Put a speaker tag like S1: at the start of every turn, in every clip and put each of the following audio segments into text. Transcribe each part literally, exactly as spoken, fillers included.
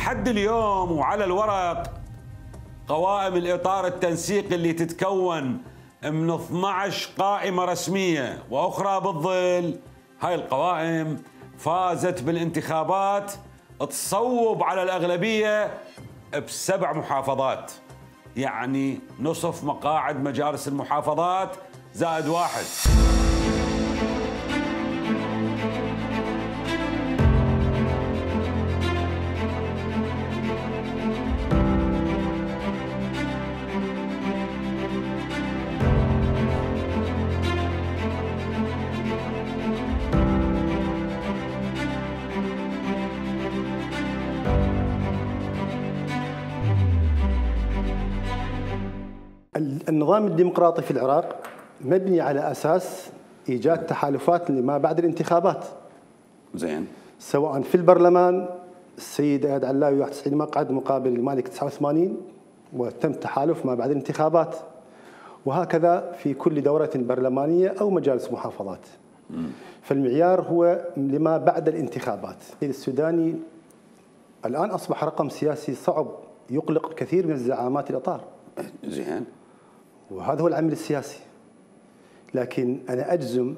S1: لحد اليوم وعلى الورق قوائم الإطار التنسيقي اللي تتكون من اثني عشر قائمة رسمية وأخرى بالظل، هاي القوائم فازت بالانتخابات تصوب على الأغلبية بسبع محافظات، يعني نصف مقاعد مجالس المحافظات زائد واحد.
S2: النظام الديمقراطي في العراق مبني على أساس إيجاد تحالفات لما بعد الانتخابات.
S1: زين.
S2: سواء في البرلمان السيد اياد علاوي واحد وتسعين مقعد مقابل المالك تسعة وثمانين، وتم تحالف ما بعد الانتخابات، وهكذا في كل دورة برلمانية أو مجالس محافظات. م. فالمعيار هو لما بعد الانتخابات. السوداني الآن أصبح رقم سياسي صعب يقلق كثير من الزعامات الإطار.
S1: زين.
S2: وهذا هو العمل السياسي، لكن أنا أجزم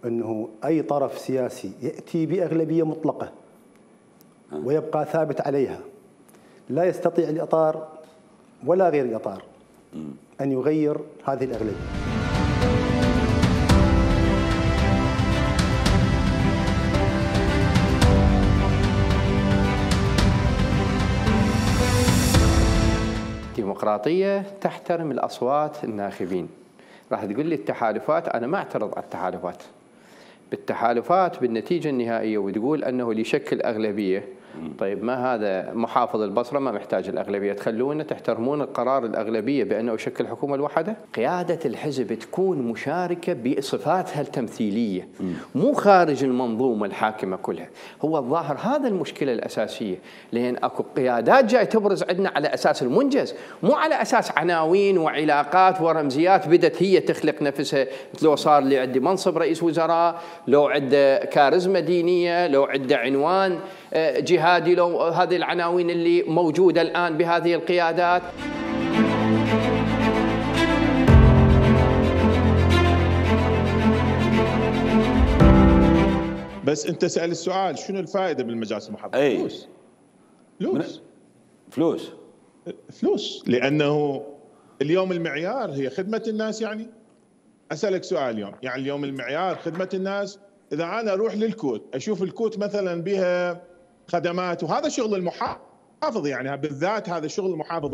S2: أنه أي طرف سياسي يأتي بأغلبية مطلقة ويبقى ثابت عليها لا يستطيع الإطار ولا غير الإطار أن يغير هذه الأغلبية.
S3: ديمقراطية تحترم الأصوات الناخبين. راح تقول لي التحالفات، أنا ما أعترض على التحالفات. بالتحالفات بالنتيجة النهائية وتقول أنه اللي يشكل أغلبية، طيب ما هذا محافظ البصرة ما محتاج الأغلبية، تخلونا تحترمون القرار الأغلبية بأنه يشكل حكومة الوحدة؟ قيادة الحزب تكون مشاركة بصفاتها التمثيلية، مو خارج المنظومة الحاكمة كلها. هو الظاهر هذا المشكلة الأساسية، لأن أكو قيادات جاي تبرز عندنا على أساس المنجز، مو على أساس عناوين وعلاقات ورمزيات بدت هي تخلق نفسها. لو صار لي عندي منصب رئيس وزراء، لو عنده كاريزما دينية، لو عنده عنوان جهادي، لو هذه العناوين اللي موجودة الآن بهذه القيادات.
S4: بس أنت سأل السؤال شنو الفائدة بالمجالس المحافظة؟
S1: أي.
S4: فلوس. فلوس.
S1: فلوس.
S4: فلوس، لأنه اليوم المعيار هي خدمة الناس. يعني أسألك سؤال اليوم، يعني اليوم المعيار خدمة الناس. إذا أنا أروح للكوت أشوف الكوت مثلا بها خدمات، وهذا شغل المحافظ، يعني بالذات هذا شغل المحافظ.